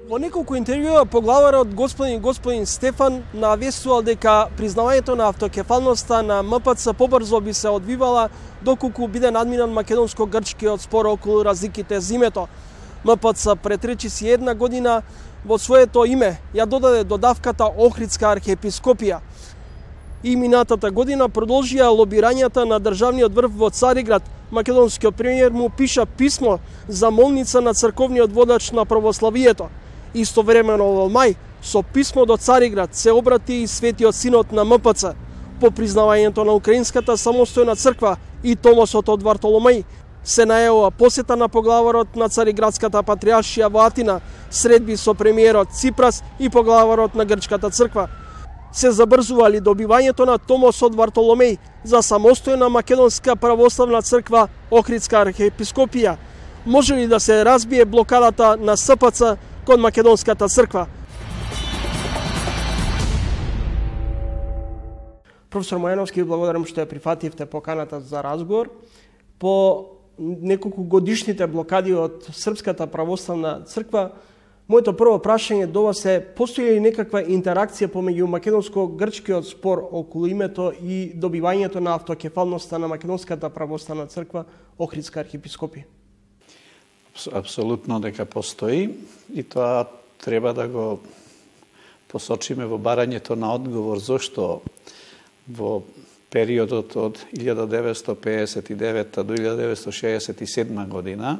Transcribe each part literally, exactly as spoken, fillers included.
Во неколку интервјуа поглаварот господин господин Стефан навестувал дека признавањето на автокефалноста на М П Ц побрзо би се одвивала доколку биде надминан македонско-грчкиот спор околу разликите за името. М П Ц претречи си една година во своето име ја додаде додавката Охридска архиепископија. И минатата година продолжија лобирањата на државниот врв во Цариград. Македонскиот премиер му пиша писмо за молница на црковниот водач на православието. Истовремено во мај, со писмо до Цариград се обрати и Светиот Синод на М П Ц по признавањето на Украинската самостојна црква и Томосот од Вартоломеј. Се најавува посета на поглаварот на Цариградската патриаршија во Атина, средби со премиерот Ципрас и поглаварот на Грчката црква. Се забрзували добивањето на Томос од Вартоломеј за самостојна македонска православна црква Охридска архиепископија. Може ли да се разбие блокадата на С П Ц кон македонската црква? Професор Мојановски, благодарам што ја прифативте поканата за разговор. По неколку годишните блокади од Српската православна црква, моето прво прашање до вас е: постои ли некаква интеракција помеѓу македонско-грчкиот спор околу името и добивањето на автокефалноста на македонската православна црква Охридска архиепископија? Апсолутно дека постои и тоа треба да го посочиме во барањето на одговор зошто во периодот од илјада деветстотини пеесет и девета до илјада деветстотини шеесет и седма година,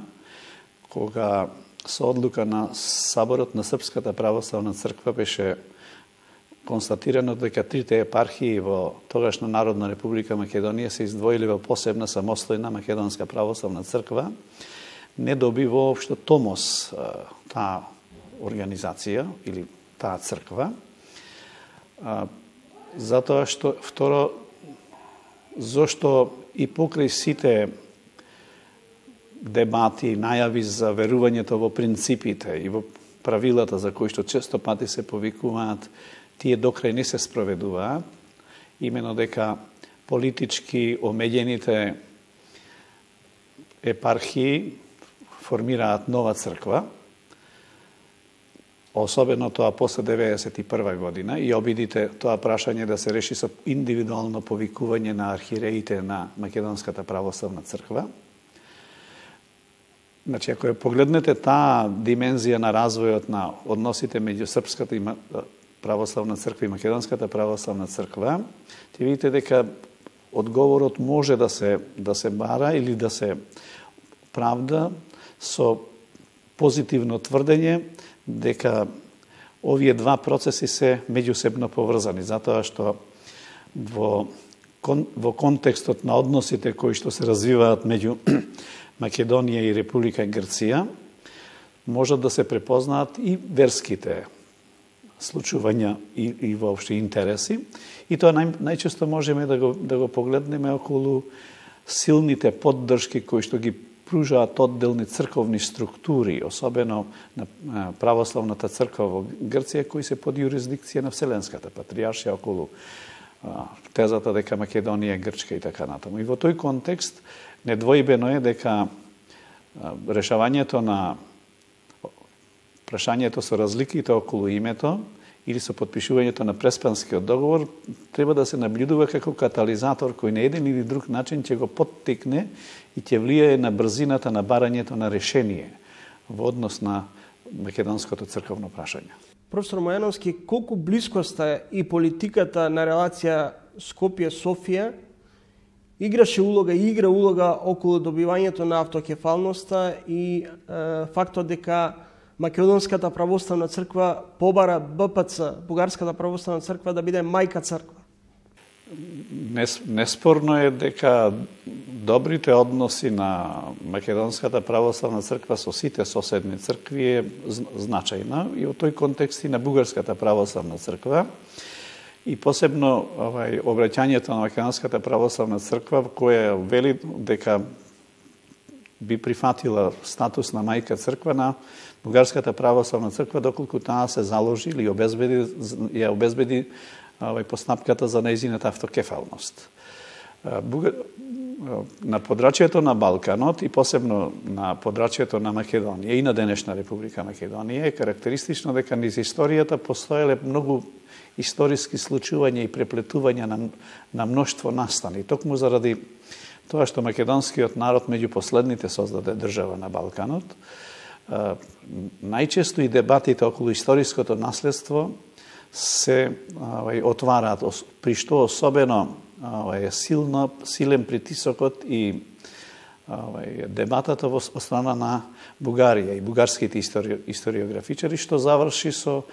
кога со одлука на Саборот на Српската православна црква беше констатирано дека трите епархии во тогашна Народна република Македонија се издвоили во посебна самостојна македонска православна црква, не доби воопшто Томос таа организација или таа црква, затоа што второ, зошто и покрај сите дебати, најави за верувањето во принципите и во правилата за кои што често пати се повикуваат, тие докрај не се спроведуваат, имено дека политички омеѓените епархии формираат нова црква, особено тоа после деветдесет и прва година, и обидите тоа прашање да се реши со индивидуално повикување на архиереите на Македонската православна црква. Значи, ако ја погледнете таа димензија на развојот на односите меѓу Српската православна црква и Македонската православна црква, ќе видите дека одговорот може да се да се бара или да се правда со позитивно тврдење дека овие два процеси се меѓусебно поврзани, затоа што во кон, во контекстот на односите кои што се развиваат меѓу Македонија и Република Грција, можат да се препознаат и верските случувања и, и воопшто интереси. И тоа нај, најчесто можеме да го, да го погледнеме околу силните поддршки кои што ги пружаат одделни црковни структури, особено на православната црква во Грција, кои се под юрисдикција на Вселенската патриаршија околу тезата дека Македонија е грчка и така натаму. И во тој контекст недвојбено е дека решавањето на прашањето со разликите околу името или со подпишувањето на Преспанскиот договор треба да се наблюдува како катализатор кој на еден или друг начин ќе го поттикне и ќе влијае на брзината на барањето на решение во однос на македонското црковно прашање. Професор Мојановски, колку блискоста и политиката на релација Скопје-Софија играше улога и игра улога околу добивањето на автокефалноста и е, фактот дека Македонската православна црква побара Б П Ц, Бугарската православна црква, да биде мајка црква? Неспорно е дека добрите односи на Македонската православна црква со сите соседни цркви е значајна и во тој контекст и на Бугарската православна црква. И посебно овај обраќањето на Македонската православна црква, која вели дека би прифатила статус на мајка црква на Бугарската православна црква, доколку таа се заложи или обезбеди, ја обезбеди овај постапката за нејзината автокефалност. на подрачјето на Балканот и посебно на подрачјето на Македонија и на денешна Република Македонија е карактеристично дека низ историјата постоеле многу историски случувања и преплетувања на, на мноштво настани. Токму заради тоа што македонскиот народ меѓу последните создаде држава на Балканот, најчесто и дебатите околу историското наследство се овај, отвараат, при што особено овај, силно, силен притисокот и овај, дебатата во страна на Бугарија и бугарските истори, историографичари, што заврши со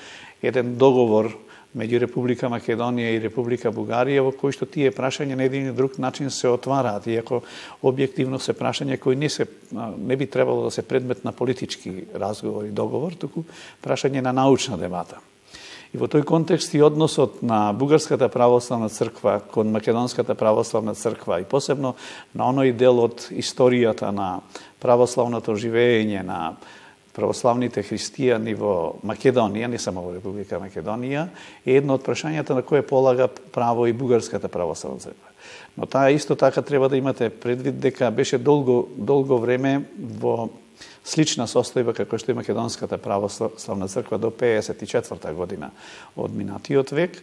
еден договор меѓу Република Македонија и Република Бугарија, во кој што тие прашања на еден и друг начин се отвараат, иако објективно се прашања кои не, се, не би требало да се предмет на политички разговор и договор, туку прашање на научна дебата. И во тој контекст и односот на Бугарската православна црква кон Македонската православна црква и посебно на оној дел од историјата на православното живење на православните христијани во Македонија, не само во Република Македонија, е едно од прашањата на кое полага право и Бугарската православна црква. Но таа исто така треба да имате предвид дека беше долго, долго време во слична состојба како што е Македонската православна црква до пеесет и четврта година од минатиот век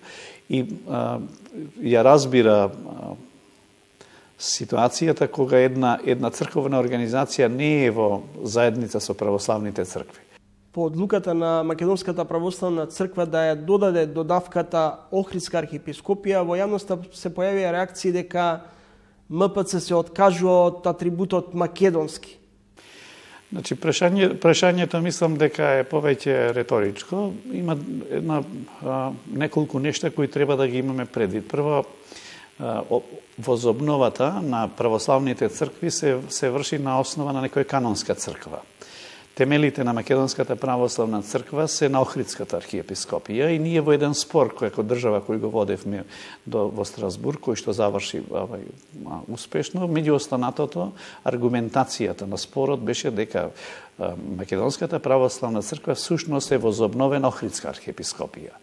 и а, ја разбира а, ситуацијата кога една една црковна организација не е во заедница со православните цркви. По одлуката на Македонската православна црква да ја додаде додавката Охридска архиепископија, во јавноста се појавија реакции дека М П Ц се откажува од атрибутот македонски. Значи, прашање, прашањето мислам дека е повеќе реторичко. Има една, а, неколку нешта кои треба да ги имаме предвид. Прво, а, возобновата на православните цркви се, се врши на основа на некоја канонска црква. Темелите на Македонската православна црква се на Охридската архиепископија и ние во еден спор кој како држава кој го водевме до во Страсбург, кој што заврши овај успешно, меѓу останатото аргументацијата на спорот беше дека Македонската православна црква всушност е возобновена Охридска архиепископија.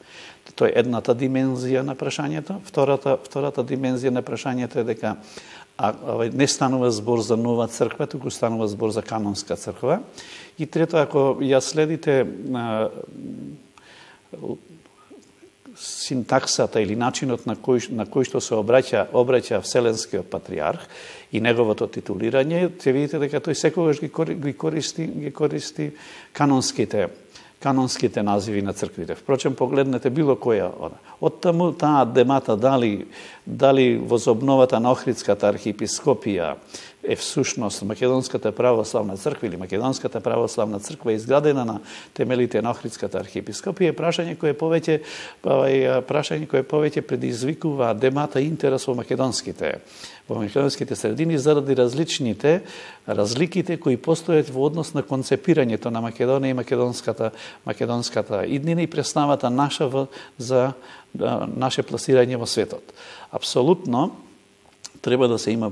Тоа е едната димензија на прашањето. Втората втората димензија на прашањето е дека а, не станува збор за нова црква, туку станува збор за канонска црква. И трето, ако ја следите а, синтаксата или начинот на кој, на кој што се обраќа, обраќа Вселенскиот патриарх и неговото титулирање, ќе видите дека тој секогаш ги користи, ги користи канонските канонските називи на црквите. Впрочем, погледнете било која она. Од таму таа демата дали, дали возобновата на Охридската архиепископија е всушност Македонската православна црква или Македонската православна црква изградена на темелите на Охридската архиепископија е прашање кое повеќе прашање кое повеќе предизвикува демата и интерес во македонските во македонските средини заради различните разликите кои постојат во однос на концепирањето на Македонија и македонската македонската иднина и представата наша во, за да, наше пласирање во светот. Апсолутно треба да се има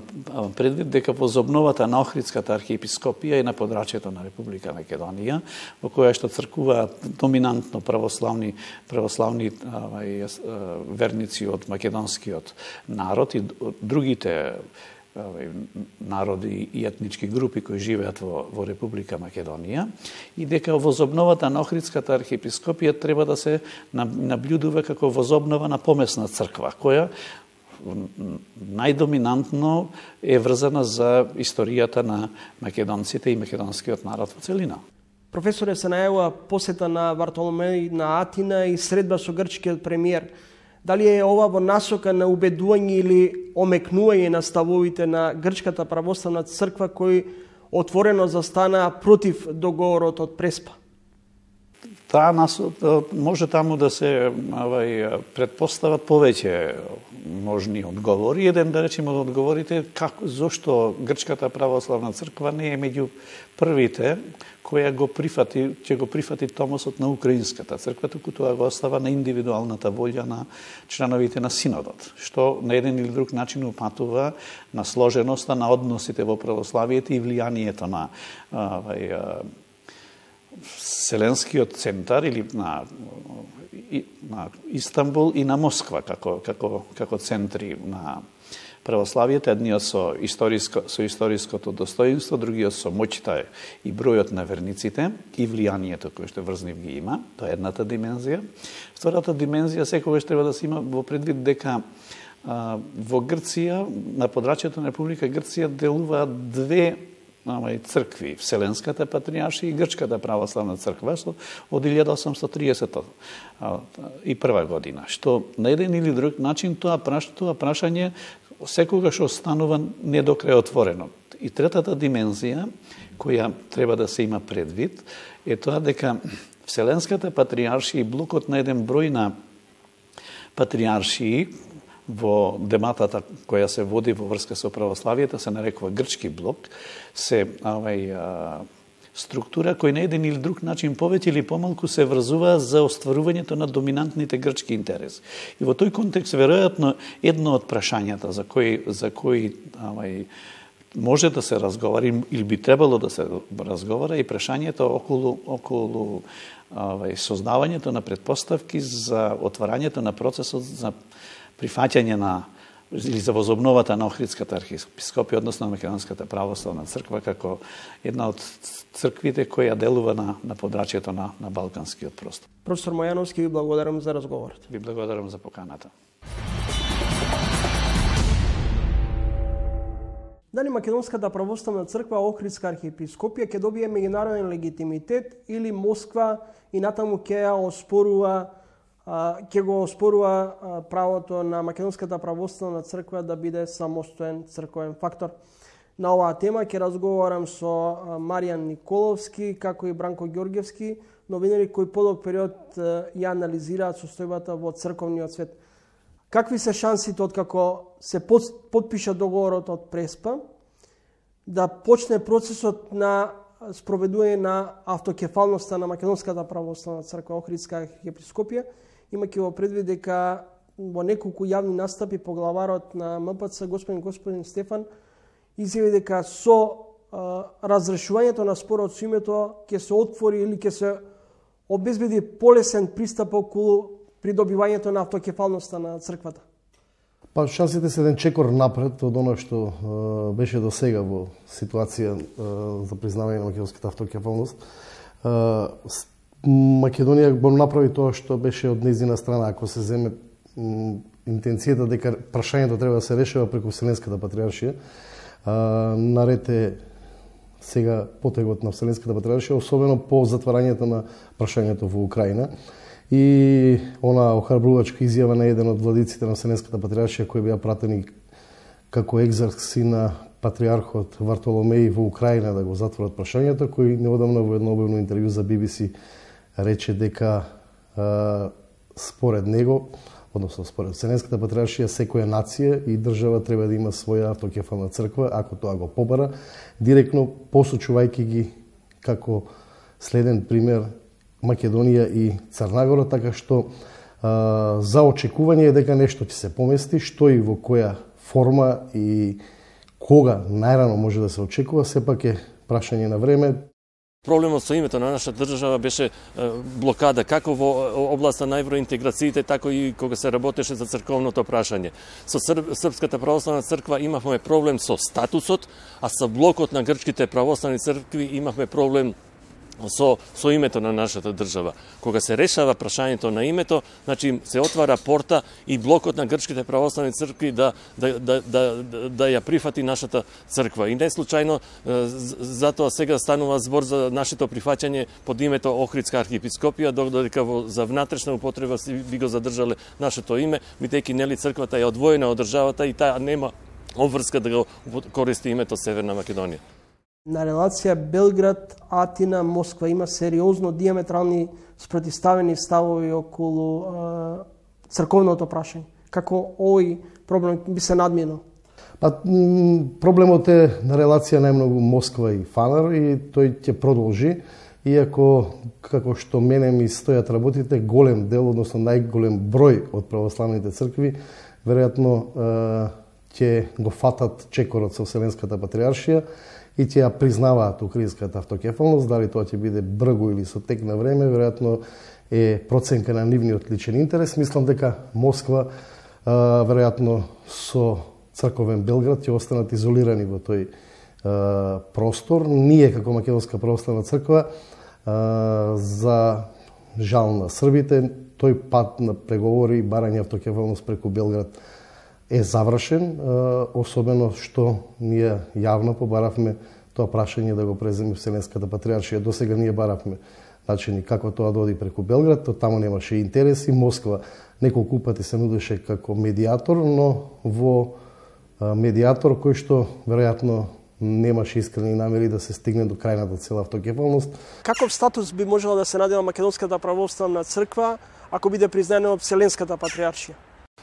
предвид дека возобновата на Охридската архиепископија е на подрачјето на Република Македонија, во која што цркуваат доминантно православни православни авај, верници од македонскиот народ и другите авај, народи и етнички групи кои живеат во, во Република Македонија и дека возобновата на Охридската архиепископија треба да се наблюдува како возобнова на помесна црква, која најдоминантно е врзана за историјата на македонците и македонскиот народ во целина. Професоре, се најавува посета на Вартоломеј на Атина и средба со грчкиот премиер. Дали е ова во насока на убедување или омекнување на ставовите на Грчката православна црква кои отворено застана против договорот од Преспа? Таа нас може таму да се авај, предпостават повеќе можни одговори. Еден, да речеме, од одговорите како зошто Грчката православна црква не е меѓу првите која го прифати, ќе го прифати томосот на Украинската црква, туку тоа го остава на индивидуалната волја на членовите на синодот, што на еден или друг начин упатува на сложеноста на односите во православието и влијанието на авај, Вселенскиот центар или на, на Истанбул и на Москва како, како, како центри на православието, едниот со историско со историското достоинство, другиот со моќта и бројот на верниците и влијанието кое што врз нив ги има. Тоа е едната димензија. Втората димензија секогаш треба да се има во предвид дека а, во Грција, на подрачјето на Република Грција делуваат две Ама и цркви, Вселенската патриаршија и Грчката православна црква, што од илјада осумстотини и триесет и прва година, што на еден или друг начин тоа праш, тоа прашање секогаш останува недокрај отворено. И третата димензија која треба да се има предвид е тоа дека Вселенската патриаршија и блокот на еден број на патриаршии во дематата која се води во врска со православието се нарекува Грчки блок, се овај а, структура кој на еден или друг начин повеќе или помалку се врзува за остварувањето на доминантните грчки интереси. И во тој контекст веројатно едно од прашањата за кои за кои овај може да се разговара или би требало да се разговара и прашањето околу околу овај создавањето на претпоставки за отварањето на процесот за прифаќање на или за возобновата на Охридската архиепископија, односно на Македонската православна црква, како една од црквите која делува на, на подрачјето на, на Балканскиот простор. Професор Мојановски, ви благодарам за разговорот. Ви благодарам за поканата. Дали Македонската православна црква Охридска архиепископија ќе добие меѓународен легитимитет или Москва и натаму ќе ја оспорува ќе го оспорува правото на Македонската православна црква да биде самостоен црковен фактор. На оваа тема ќе разговарам со Маријан Николовски, како и Бранко Ѓорѓевски, новинари кои подолг период ја анализираат состојбата во црковниот свет. Какви се шансите откако се подпиша договорот од Преспа да почне процесот на спроведување на автокефалноста на Македонската православна црква Охридска архиепископија, имајќи во предвид дека во неколку јавни настапи поглаварот на М П Ц господин господин Стефан изјави дека со а, разрешувањето на спорот со името ќе се отвори или ќе се обезбеди полесен пристап околу придобивањето на автокефалноста на црквата. Па шансите се еден чекор напред од оно што а, беше до сега во ситуација а, за признавање на македонската автокефалност. А, Македонија го направи тоа што беше од нејзина страна, ако се земе интенцијата дека прашањето треба да се решава преку Вселенската патриаршија. Наред е сега потегот на Вселенската патриаршија, особено по затварањето на прашањето во Украина. И она охрабрувачка изјава на еден од владиците на Вселенската патриаршија, кои беа пратени како екзарси на патриархот Вартоломеј во Украина да го затворат прашањето, кој неодамна во едно објавно интервју за Би Би Си рече дека а, според него, односно според Вселенската патриаршија, секоја нација и држава треба да има своја автокефална црква, ако тоа го побара, директно посочувајќи ги како следен пример Македонија и Црнагора, така што а, за очекување е дека нешто ќе се помести, што и во која форма и кога најрано може да се очекува, сепак е прашање на време. Проблемот со името на нашата држава беше блокада, како во областа на евроинтеграциите, тако и кога се работеше за црковното прашање. Со Српската православна црква имавме проблем со статусот, а со блокот на грчките православни цркви имавме проблем со, со името на нашата држава. Кога се решава прашањето на името, значи се отвара порта и блокот на грчките православни цркви да, да, да, да, да ја прифати нашата црква. И не случајно, затоа сега станува збор за нашето прифаќање под името Охридска архиепископија, додека за внатрешна употреба би го задржале нашето име, бидејќи нели црквата е одвоена од државата и таа нема обврска да го користи името Северна Македонија. На релација Белград, Атина, Москва има сериозно диаметрални спротивставени ставови околу е, црковното прашање. Како овој проблем би се надминал? Па, проблемот е на релација најмногу Москва и Фанар и тој ќе продолжи, иако, како што мене ми стојат работите, голем дел, односно најголем број од православните цркви, веројатно ќе го фатат чекорот со Вселенската патриаршија и ќе ја признаваат Охридската автокефалност. Дали тоа ќе биде бргу или со тек на време, веројатно е проценка на нивниот личен интерес. Мислам дека Москва, веројатно со црковен Белград ќе останат изолирани во тој а, простор. Ние како Македонска православна црква а, за жал на србите, тој пат на преговори и барање автокефалност преку Белград е завршен, особено што ние јавно побаравме тоа прашање да го преземе Вселенската патриаршија. До сега ние баравме начини како тоа да оди преку Белград, то таму немаше интереси. Москва неколку пати се нудеше како медиатор, но во медиатор кој што веројатно немаше искрени намери да се стигне до крајната цела автокефалност. Каков статус би можела да се најде на Македонската православна црква ако биде признаена од Вселенската патриаршија?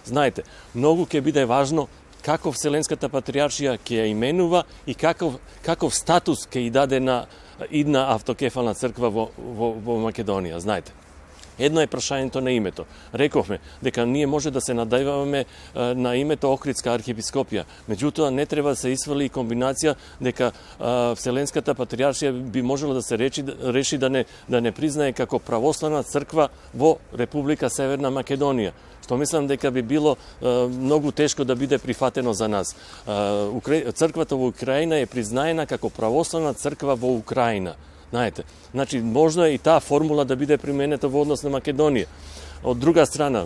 Знаете, многу ќе биде важно како Вселенската патриаршија ќе ја именува и каков, каков статус ќе и даде на идна автокефална црква во, во, во Македонија. Знаете, едно е прашањето на името. Рековме дека ние може да се надајваме на името Охридска архиепископија. Меѓутоа не треба да се исфали и комбинација дека а, Вселенската патриаршија би можела да се речи, реши да не, да не признае како православна црква во Република Северна Македонија. Што мислам дека би било а, многу тешко да биде прифатено за нас. А, Укра... Црквата во Украина е признаена како православна црква во Украина. Знаете, значи можно е и таа формула да биде применета во однос на Македонија. Од друга страна,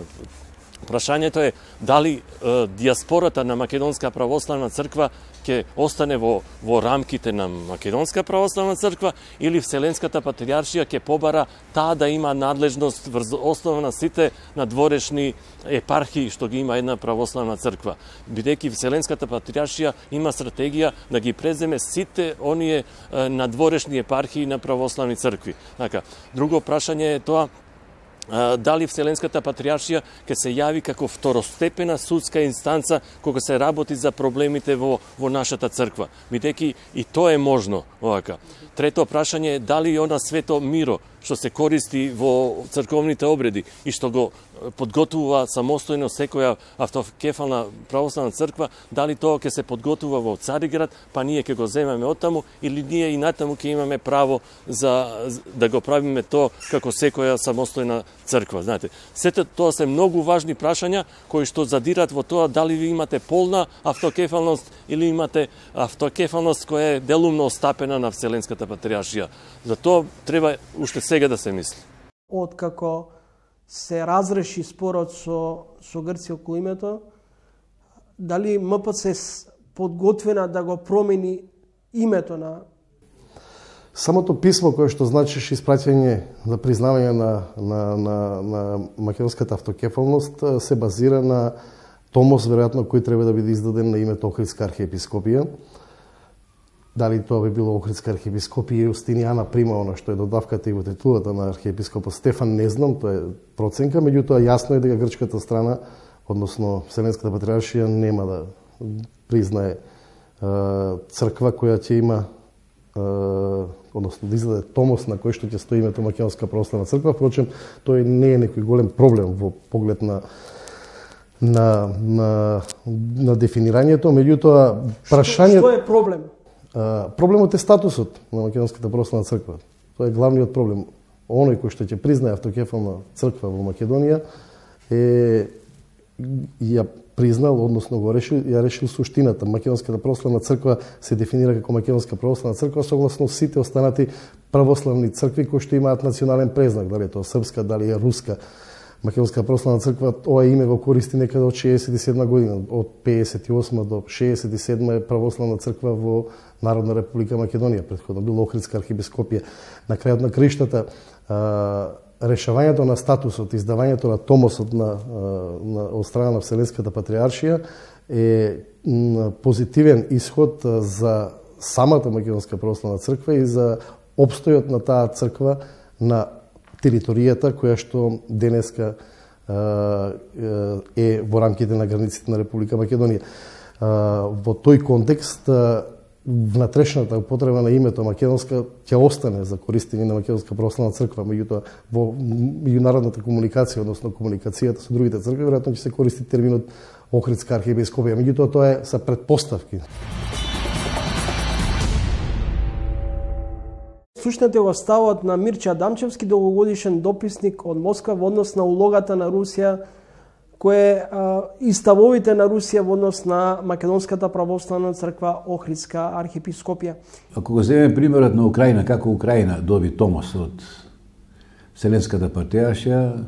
прашањето е дали е, диаспората на Македонска православна црква ќе остане во, во рамките на Македонска православна црква или Вселенската патриаршија ќе побара таа да има надлежност врз основа на сите надворешни епархии што ги има една православна црква. Бидејќи Вселенската патриаршија има стратегија да ги преземе сите оние е, надворешни епархии на православни цркви. Така, друго прашање е тоа дали Вселенската патриаршија ќе се јави како второстепена судска инстанца кога се работи за проблемите во, во нашата црква. Бидејќи и тоа е можно овака. Трето прашање е дали она свето миро што се користи во црковните обреди и што го подготвува самостојно секоја автокефална православна црква, дали тоа ќе се подготвува во Цариград, па ние ќе го земеме оттаму или ние и натаму ќе имаме право за да го правиме тоа како секоја самостојна црква. Знаете, сето тоа се многу важни прашања кои што задират во тоа дали ви имате полна автокефалност или имате автокефалност која е делумно остапена на Вселенската патриаршија. За тоа треба уште сега да се мисли. Откако се разреши спорот со, со Грција околу името, дали М П Ц е подготвена да го промени името на... Самото писмо кое што значеше испраќање за признавање на, на, на, на македонската автокефалност се базира на томос, веројатно, кој треба да биде издаден на името Охридска архиепископија. Дали тоа би било Охридска архиепископија Јустинијана прима, она што е додавката и во титулата на архиепископот Стефан, не знам, тоа е проценка, меѓутоа јасно е дека грчката страна, односно Вселенската патриаршија, нема да признае е, црква која ќе има, е, односно да издаде томос на кој што ќе стои името Македонска православна црква. Впрочем, тој не е некој голем проблем во поглед на на на, на дефинирањето, меѓутоа прашањето... Што е проблем? Проблемот е статусот на Македонската православна црква. Тоа е главниот проблем. Оној кој што ќе признае автокефална црква во Македонија е ја признал, односно го решил, ја решил суштината. Македонската православна црква се дефинира како Македонска православна црква согласно сите останати православни цркви кои што имаат национален презнак, дали е тоа српска, дали е руска. Македонска православна црква ова име го користи некаде од шеесет и седма година, од пеесет и осма до шеесет и седма е православна црква во Народна република Македонија, претходно било Охридска архиепископија. На крајот на криштата, решавањето на статусот, издавањето на томосот на, на од страна на Вселенската патриаршија е позитивен исход за самата Македонска православна црква и за опстојот на таа црква на територијата која што денеска е во рамките на границите на Република Македонија. Во тој контекст внатрешната употреба на името Македонска ќе остане за користење на Македонска православна црква, меѓутоа во меѓународната комуникација, односно комуникацијата со другите цркви, веројатно ќе се користи терминот Охридска архиепископија, меѓутоа тоа е са претпоставки. Слушнете во ставот на Мирча Адамчевски, долгогодишен дописник од Москва во однос на улогата на Русија кое а, и ставовите на Русија во однос на Македонската православна црква Охридска архиепископија. Ако го земеме примерот на Украина, како Украина доби томос од Вселенската патриаршија,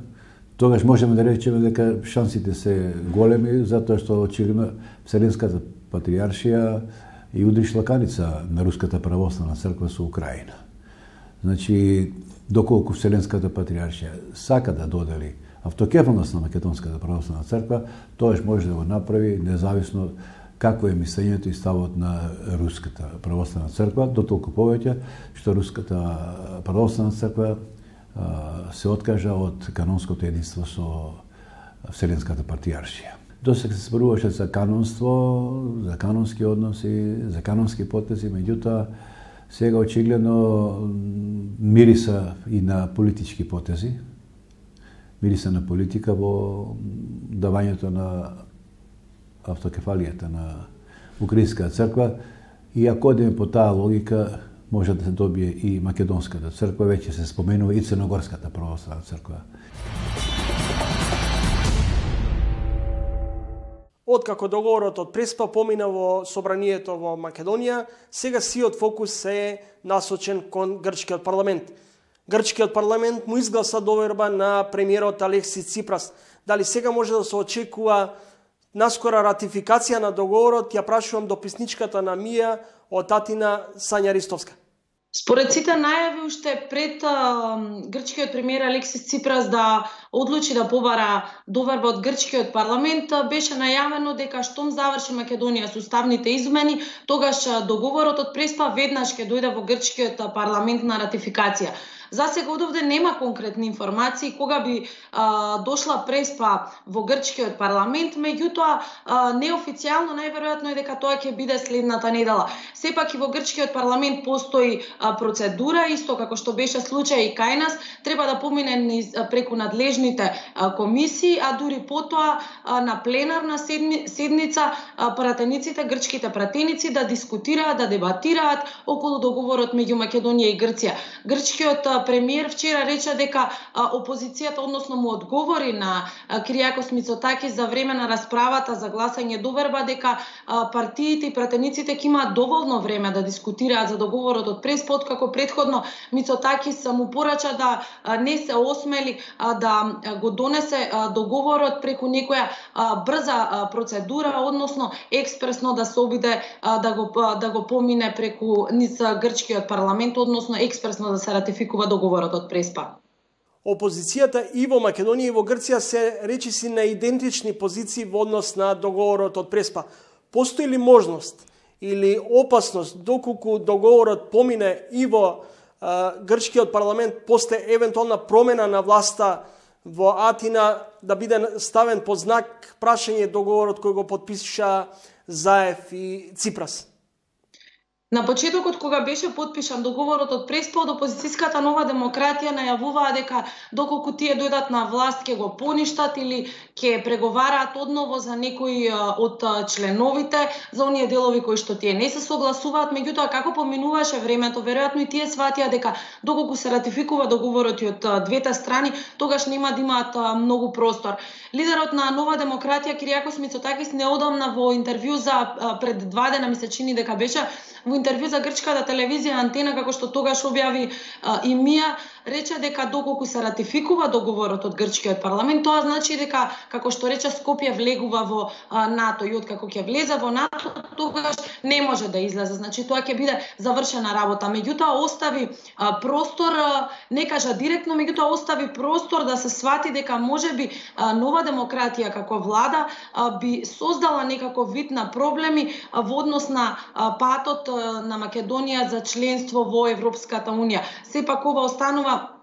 тогаш можеме да речеме дека шансите се големи, затоа што очигледно Вселенската патриаршија и удри шлаканица на Руската православна црква со Украина. Значи, доколку Вселенската патриаршија сака да додели автокефалност на Македонската православна црква, тоаш може да го направи независно какво е мислењето и ставот на Руската православна црква, дотолку повеќе што Руската православна црква се откажа од канонското единство со Вселенската патриаршија. Досега се зборуваше за канонство, за канонски односи, за канонски потези, меѓутоа сега очигледно мириса и на политички потези, мириса на политика во давањето на автокефалијата на Украинската црква, и ако одиме по таа логика, може да се добие и Македонската црква, веќе се споменува и Црногорската православна црква. Откако договорот од Преспа помина во собранието во Македонија, сега сиот фокус е насочен кон грчкиот парламент. Грчкиот парламент му изгласа доверба на премиерот Алекси Ципрас. Дали сега може да се очекува наскора ратификација на договорот? Ја прашувам дописничката на Мија од Атина, Сања Ристовска. Според сите најави уште пред а, грчкиот премиер Алексис Ципрас да одлучи да побара доверба од грчкиот парламент, беше најавено дека штом заврши Македонија со уставните измени, тогаш договорот од Преспа веднаш ќе дојде во грчкиот парламент на ратификација. За сега одовде нема конкретни информации кога би а, дошла Преспа во грчкиот парламент, меѓутоа неофицијално најверојатно е дека тоа ќе биде следната недела. Сепак и во грчкиот парламент постои а, процедура, исто како што беше случај и кај нас, треба да помине низ, преку надлежните а, комисии, а дури потоа а, на пленарна седни, седница а, пратениците, грчките пратеници да дискутираат, да дебатираат околу договорот меѓу Македонија и Грција. Грчкиот премиер вчера рече дека а, опозицијата, односно му одговори на а, Киријакос Мицотакис за време на расправата за гласање доверба, дека а, партиите и пратениците ќе имаат доволно време да дискутираат за договорот од Преспа, како предходно Мицотакис му порача да а, не се осмели а, да го донесе а, договорот преку некоја а, брза а, процедура, односно експресно да се обиде а, да го а, да го помине преку низ грчкиот парламент, односно експресно да се ратификува договорот од Преспа. Опозицијата и во Македонија и во Грција се речиси на идентични позиции во однос на договорот од Преспа. Постои ли можност или опасност доколку договорот помине и во а, грчкиот парламент после евентуална промена на власта во Атина да биде ставен под знак прашање договорот кој го потпиша Заев и Ципрас? На почетокот, кога беше потпишан договорот од Преспа, од опозицијската Нова демократија најавуваа дека доколку тие дојдат на власт ќе го поништат или ќе преговараат одново за некои од членовите, за оние делови кои што тие не се согласуваат. Меѓутоа, како поминуваше времето, веројатно и тие сватија дека доколку се ратификува договорот и од двете страни, тогаш нема да имаат многу простор. Лидерот на Нова демократија Киријакос Мицотакис неодамна во интервју за пред два дена, ми се чини дека беше во интервју за грчката телевизија Антена, како што тогаш објави а, и Мија, рече дека доколку се ратификува договорот од грчкиот парламент, тоа значи дека, како што рече, Скопје влегува во а, НАТО, и откако ќе влезе во НАТО, тогаш не може да излезе. Значи тоа ќе биде завршена работа. Меѓутоа остави а, простор, а, не кажа директно, меѓутоа остави простор да се свати дека можеби а, Нова демократија како влада а, би создала некаков вид на проблеми а, во однос на а, патот на Македонија за членство во Европската Унија. Сепак ова останува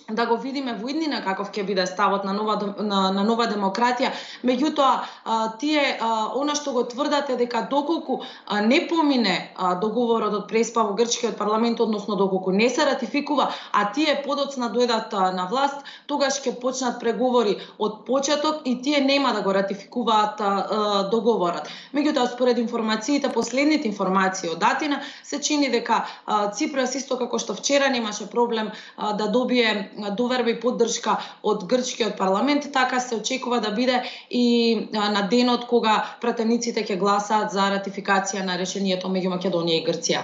да го видиме во иднина каков ќе биде ставот на нова на, на Нова демократија. Меѓутоа тие а, она што го тврдат е дека доколку а, не помине а, договорот од Преспа во грчкиот парламент, односно доколку не се ратификува, а тие подоцна дојдат а, на власт, тогаш ќе почнат преговори од почеток и тие нема да го ратификуваат а, а, договорот. Меѓутоа според информациите, последните информации од Атина, се чини дека а, Ципрас исто како што вчера немаше проблем а, да добие доверба и поддршка од грчкиот парламент, така се очекува да биде и на денот кога пратениците ќе гласаат за ратификација на решението меѓу Македонија и Грција.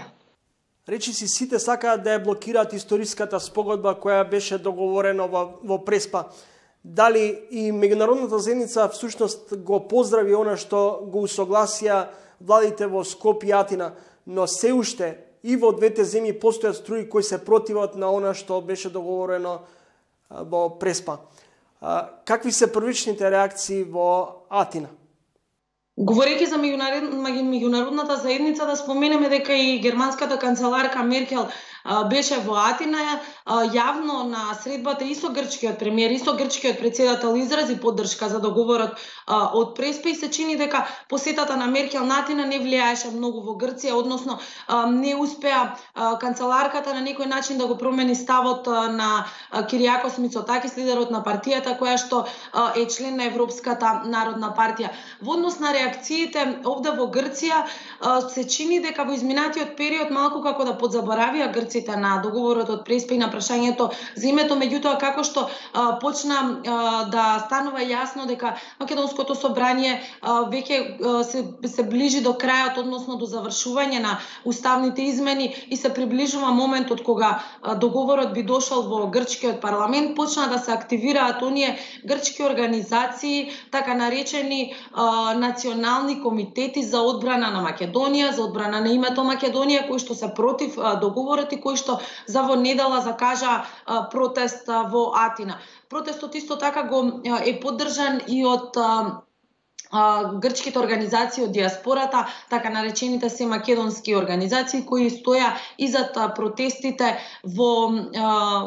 Речи си, сите сакаат да ја блокираат историската спогодба која беше договорена во, во Преспа. Дали и меѓународната заедница всушност го поздрави она што го усогласија владите во Скопје и Атина, но се уште и во двете земји постојат струи кои се противат на она што беше договорено во Преспа. Какви се првичните реакции во Атина? Говорејќи за меѓународната заедница, да споменеме дека и германската канцеларка Меркел беше во Атина, јавно на средбата и со грчкиот премиер, и со грчкиот председател изрази поддршка за договорот од Преспа и се чини дека посетата на Меркел на Атина не влијаеше многу во Грција, односно не успеа канцеларката на некој начин да го промени ставот на Кириакос Мицотакис, лидерот на партијата која што е член на Европската народна партија. Во однос на реакциите овде во Грција се чини дека во изминатиот период малку како да подзаборавија грците на договорот од Преспа и на прашањето за името, меѓутоа како што а, почна а, да станува јасно дека Македонското собрание а, веќе а, се, се ближи до крајот, односно до завршување на уставните измени и се приближува моментот кога а, договорот би дошол во грчкиот парламент, почна да се активираат оние грчки организации, така наречени а, национални комитети за одбрана на Македонија, за одбрана на името Македонија, кои што се против а, договорот и кои што за во недела закажа а, протест а, во Атина. Протестот исто така го а, е поддржан и од а, грчките организации од диаспората, така наречените се македонски организации кои стоја изад протестите во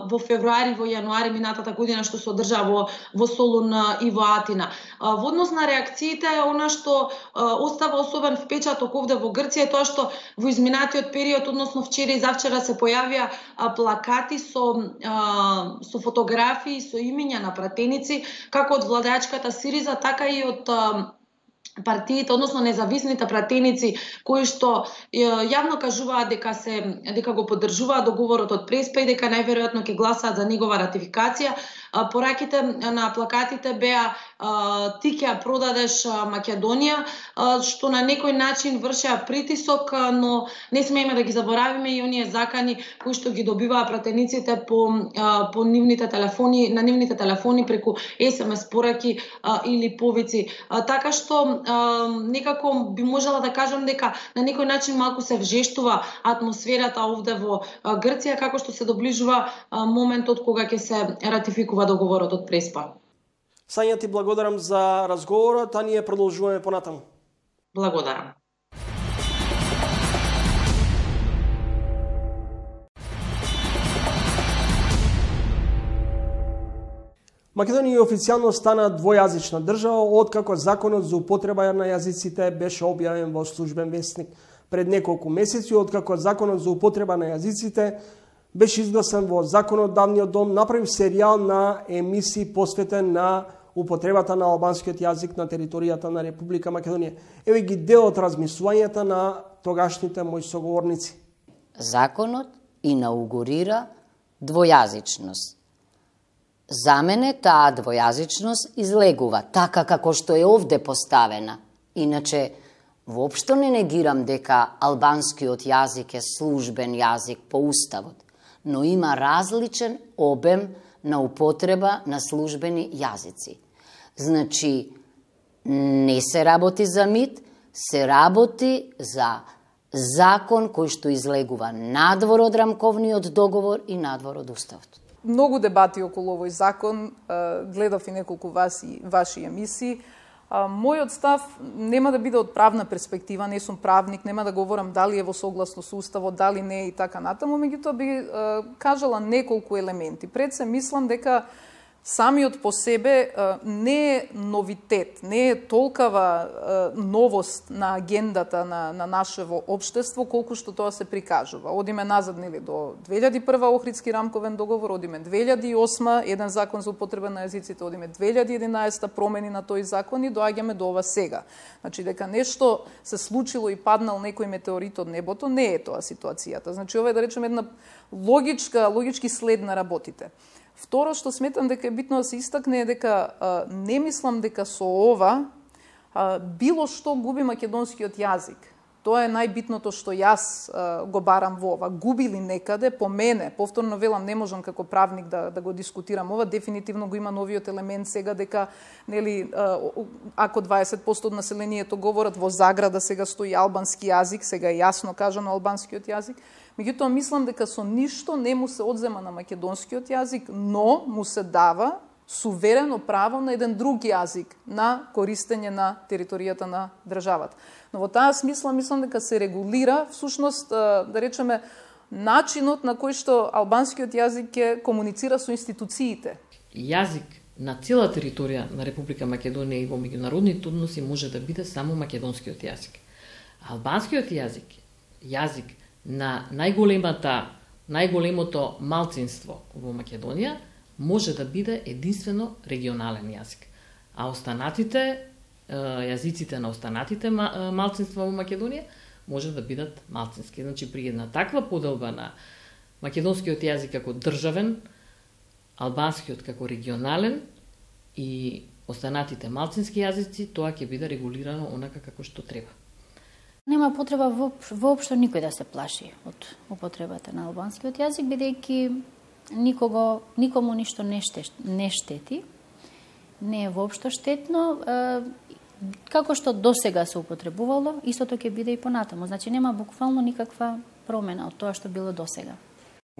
во февруари, во јануари минатата година што се одржа во во Солун и во Атина. Во однос на реакциите, она што остава особен впечаток овде во Грција е тоа што во изминатиот период, односно вчера и завчера се појавија плакати со со фотографии, со имиња на пратеници како од владеачката Сириза, така и од партиите, односно независните пратеници кои што јавно кажуваат дека се дека го поддржуваат договорот од Преспа и дека најверојатно ќе гласаат за негова ратификација. Пораките на плакатите беа ти ќе ја продадеш Македонија, што на некој начин вршеа притисок, но не смееме да ги заборавиме и оние закани кои што ги добиваа пратениците по по нивните телефони, на нивните телефони преку ес ем ес пораки или повици. Така што некако би можела да кажам дека на некој начин малку се вжештува атмосферата овде во Грција како што се доближува моментот кога ќе се ратификува договорот од Преспа. Сања, ти благодарам за разговорот, а ние продолжуваме понатаму. Благодарам. Македонија официјално стана двојазична држава откако законот за употреба на јазиците беше објавен во Службен весник пред неколку месеци, откако законот за употреба на јазиците беше изгласан во законодавниот дом, направи серијал на емисии посветен на употребата на албанскиот јазик на територијата на Република Македонија. Еве ги дел од размислувањата на тогашните мои соговорници. Законот инаугурира двојазичност. За мене таа двојазичност излегува така како што е овде поставена. Иначе, воопшто не негирам дека албанскиот јазик е службен јазик по уставот, но има различен обем на употреба на службени јазици. Значи, не се работи за мит, се работи за закон кој што излегува надвор од рамковниот договор и надвор од уставот. Многу дебати околу овој закон, гледав и неколку ваши, ваши емисии. Мојот став нема да биде од правна перспектива, не сум правник, нема да говорам дали е во согласно со уставот, дали не и така натаму, меѓутоа би кажала неколку елементи. Пред се мислам дека самиот по себе не е новитет, не е толкова новост на агендата на, на нашево општество, колку што тоа се прикажува. Одиме назад, нели, до две илјади и прва Охридски рамковен договор, одиме две илјади и осма еден закон за употреба на јазиците, одиме две илјади и единаесета промени на тој закон и доаѓаме до ова сега. Значи, дека нешто се случило и паднал некој метеорит од небото, не е тоа ситуацијата. Значи, ова е, да речем, една логичка, логички след на работите. Второ што сметам дека е битно да се истакне е дека а, не мислам дека со ова а, било што губи македонскиот јазик. Тоа е најбитното што јас а, го барам во ова. Губи ли некаде, по мене, повторно велам, не можам како правник да, да го дискутирам ова, дефинитивно го има новиот елемент сега дека, нели, а, ако дваесет проценти од населението говорат во заграда, сега стои албански јазик, сега е јасно кажано албанскиот јазик. Меѓутоа, мислам дека со ништо не му се одзема на македонскиот јазик, но му се дава суверено право на еден друг јазик на користење на територијата на државата. Но во таа смисла мислам дека се регулира всушност, да речеме, начинот на кој што албанскиот јазик ќе комуницира со институциите. Јазик на цела територија на Република Македонија и во меѓународните односи може да биде само македонскиот јазик. Албанскиот јазик, јазик на најголемата, најголемото малцинство во Македонија, може да биде единствено регионален јазик. А останатите, јазиците на останатите малцинства во Македонија, може да бидат малцински. Значи, при една таква поделба на македонскиот јазик како државен, албанскиот како регионален и останатите малцински јазици, тоа ќе биде регулирано онака како што треба. Нема потреба воопшто никој да се плаши од употребата на албанскиот јазик, бидејќи никого, никому ништо не, штет, не штети, не е воопшто штетно, е, како што досега се употребувало, истото ќе биде и понатаму. Значи нема буквално никаква промена од тоа што било досега.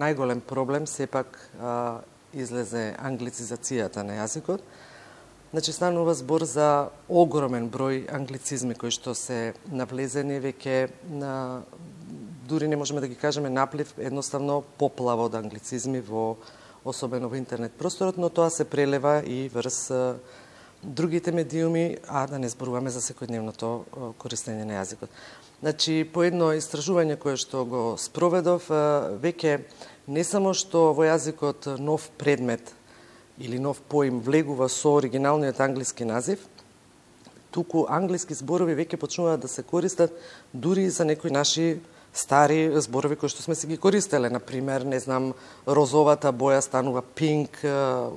Најголем проблем сепак а, излезе англицизацијата на јазикот. Значи станува збор за огромен број англицизми кои што се навлезени веќе на, дури не можеме да ги кажеме наплив, едноставно поплава од англицизми во, особено во интернет просторот, но тоа се прелева и врз а, другите медиуми, а да не зборуваме за секојдневното а, користење на јазикот. Значи, по едно истражување кое што го спроведов, а, веќе не само што во јазикот нов предмет или нов поим влегува со оригиналниот англиски назив, туку англиски зборови веќе почнуваат да се користат дури за некои наши стари зборови кои што сме си ги користеле. Например, не знам, розовата боја станува pink,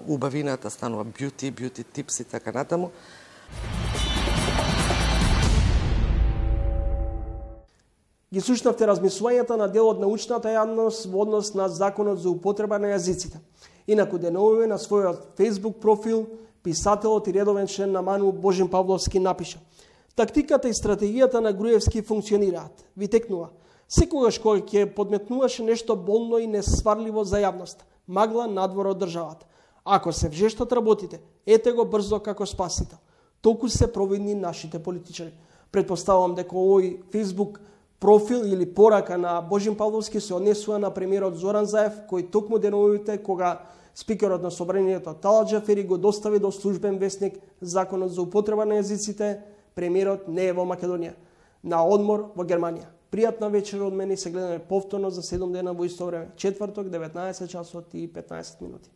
убавината станува beauty, beauty tips и така натаму. Ги слушнавте размислувањата на дел од научната јавност во однос на Законот за употреба на јазиците. Инаку деновиве на својот Facebook профил писателот и редовен член на МАНУ Божин Павловски напиша: "Тактиката и стратегијата на Груевски функционираат. Ви текнува. Секогаш кога ќе подметнуваше нешто болно и несварливо за јавност, магла надвор од државата. Ако се вжештат работите, ете го брзо како спасител. Толку се провидни нашите политичари." Предпоставувам дека овој Facebook профил или порака на Божин Павловски се однесува на премиерот Зоран Заев, кој токму деновите кога спикерот на собранието Талат Џафери го достави до службен весник Законот за употреба на јазиците, премиерот не е во Македонија, на одмор во Германија. Пријатна вечер од мене и се гледаме повторно за седум дена во исто време, четврток, деветнаесет часот и петнаесет минути.